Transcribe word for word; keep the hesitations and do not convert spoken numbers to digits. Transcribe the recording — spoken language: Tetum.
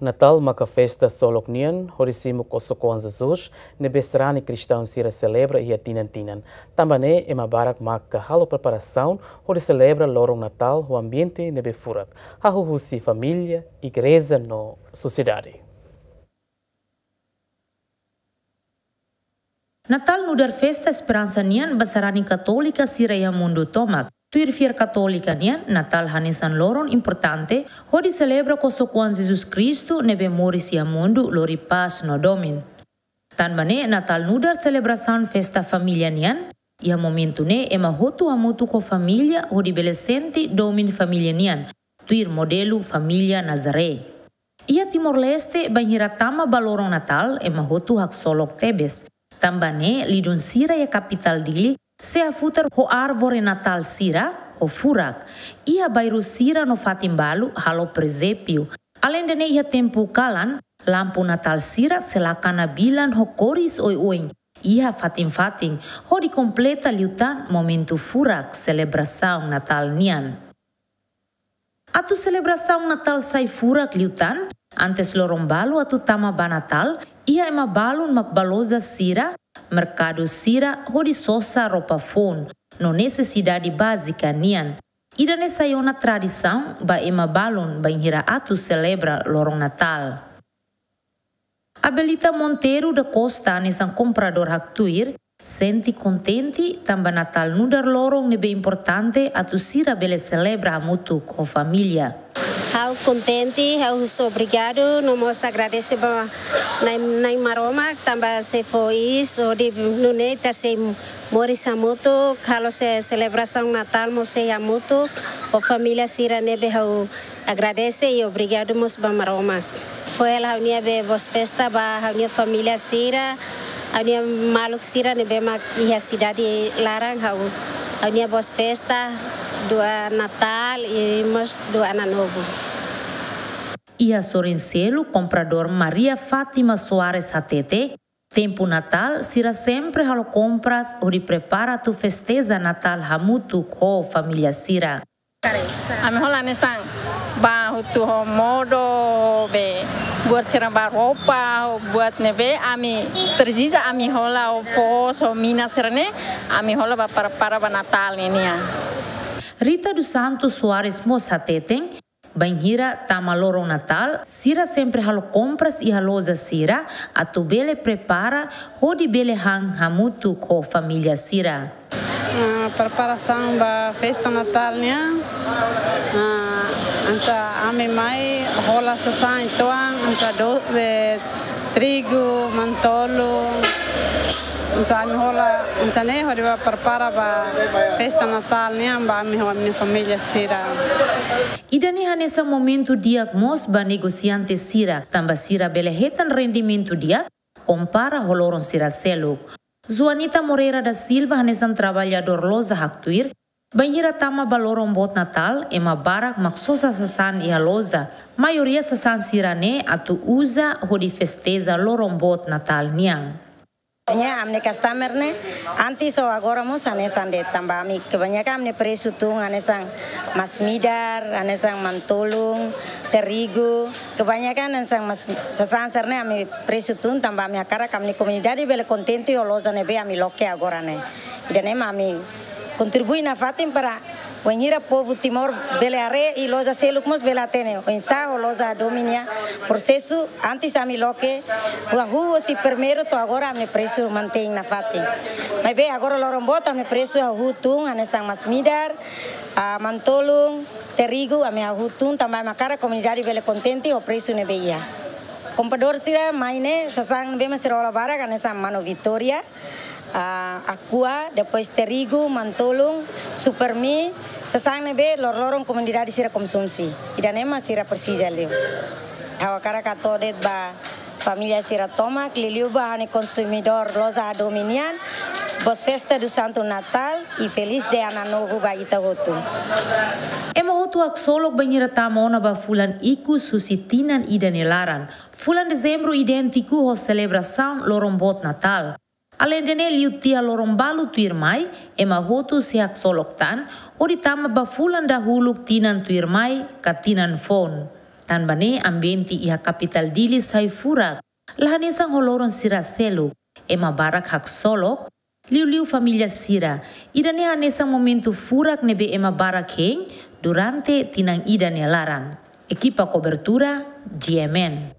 Natál maka festa solok nian hodi simu kosok-oan Jesus ne'ebé sarani kristaun sira selebra iha tinan-tinan. Tanba ne'e ema barak maka halo preparasaun hodi selebra loron Natál ho ambiente ne'ebé furak, hahú husi família, igreja no sosiedade. Natál nu'udar festa esperansa nian ba sarani katólika sira iha mundu tomak. Tuir fiar katólika nian, Natál hanesan loron importante hodi selebra kosok-oan Jesus Kristu ne'ebé moris iha mundu lori pás no domin. Tanba ne'e Natál nu'udar selebrasaun festa família nian, iha momentu ne'e ema hotu hamutuk ho família hodi bele sente domin família nian, tuir modelu família Nazaré. Iha Timor-Leste, bainhira tama ba loron Natál, ema hotu haksolok tebes. Tanba ne'e, lidun sira iha kapitál Dili sei hafutar ho árvore Natál sira ho furak. Iha bairru sira no fatin balu halo presépiu. Aleinde ne'e, iha tempu kalan, lampu Natál sira sei lakana bilan ho kores oioin iha fatin-fatin, hodi kompleta liután momentu furak selebrasaun Natál nian. Atu selebrasaun Natál sai furak liután, antes loron balu atu tama ba Natál, iha ema balun mak bá loja sira, merkadu sira, hodi sosa roupa foun no nesesidade bázika nian. Ida-ne'e sai ona tradisaun ba ema balun bainhira atu selebra loron Natál. Abelita Monteiro da Costa hanesan kompradór haktuir, sente kontente tanba Natál nu'udar loron ne'ebé importante atu sira bele selebra hamutuk ho família. Ha'u kontente, ha'u husu obrigadu, no mós agradese ba Na'i, Na'i Maromak, tanba sei fó iis hodi nune'e ita sei moris hamutuk, halo se-, selebrasaun Natál mós sei hamutuk, ho família sira ne'ebé ha'u agradese i obrigadu mós ba Maromak. Fó hela ha'u-nia be boas festas ba ha'u-nia família sira, ha'u-nia maluk sira ne'ebé mak iha sidade laran ha'u, ha'u-nia boas festas, dua Natál i mós dua Ano Novo. Iha sorin seluk, kompradór Maria Fátima Soares hatete, tempu Natál, sira sempre halo kompras hodi prepara atu festeja Natál hamutuk ho família sira. Ami hola hanesan bá hotu ho modo be buat sira bá roupa, buat ne'ebé ami presiza ami hola ho foos, ho mina sira-ne'e, ami hola bá prepara ba Natál nian. Rita dos Santos Soares mós hateten, bainhira tama loron Natál, sira sempre halo kompras iha loja sira atu bele prepara hodi bele han hamutuk ho família sira. Ah, preparasaun ba festa Natál nian. Ah, hanesan ami mai hola sasán uitoan, hanesan do-, be, trigu, manu-tolun. Hanesan ami hola, hanesan ne'e hodi bá prepara ba festa Natál nian ba ami ho ami-nia família sira. Ida-ne'e hanesan momentu di'ak mós ba negosiante sira, tanba sira bele hetan rendimentu di'ak, kompara ho loron sira seluk. Joanita Moreira da Silva hanesan traballadór loja haktuir, bainhira tama ba loron boot Natál, ema barak mak sosa sasán iha loja. Maioria sasán sira-ne'e atu uza hodi festeja loron boot Natál nian. Nia ami-nia customer ne'e, antes ho agora mós hanesan de'it, tanba ami kebanyakan ami-nia presu tun hanesan masin-midar, hanesan manu-tolun, trigu, kebanyakan hanesan mas-, sasán sira-ne'e ami presu tun tanba ami hakarak ami-nia komunidade bele kontente ho loja ne'ebé ami loke agora ne'e. Ida-ne'e mak ami kontribui nafatin para bainhira povu Timor bele haree i loja seluk mós bele hatene oinsá ho loja Adomi nia prosesu, antes ami loke hahú husi primeiru to'o agora ami-nia presu mantein nafatin. Maibé agora loron boot ami-nia presu hahú tun hanesan masin-midar, ah, manu-tolun, trigu, ami hahú tun tanba ami hakarak komunidade bele kontente ho presu ne'ebé iha. Kompradór sira mai ne'e sasán ne'ebé mak sira hola barak hanesan manu Vitória, ah, Aqua, depois trigu, manu-tolun, Supermi, sasán ne'ebé lor-loron komunidade sira konsumsi. Ida-ne'e mak sira presiza liu. Ha'u hakarak hato'o de'it ba família sira tomak, liuliu ba ha'u-nia konsumidór loja Adomi nian, boas festas do Santo Natal e feliz de Ano Novo ba ita hotu. Ema hotu haksolok bainhira tama ona ba fulan ikus husi tinan ida nia laran. Fulan Dezembru idéntiku ho selebrasaun loron boot Natál. Aleinde ne'e, liu tiha loron balu tuirmai, ema hotu sei haksolok tan hodi tama ba fulan dahuluk tinan tuirmai ka tinan foun. Tanba ne'e ambiente iha kapitál Dili sai furak, la hanesan ho loron sira seluk, ema barak haksolok, liuliu família sira. Ida-ne'e hanesan momentu furak ne'ebé ema barak hein durante tinan ida nia laran. Ekipa kobertura, G M N.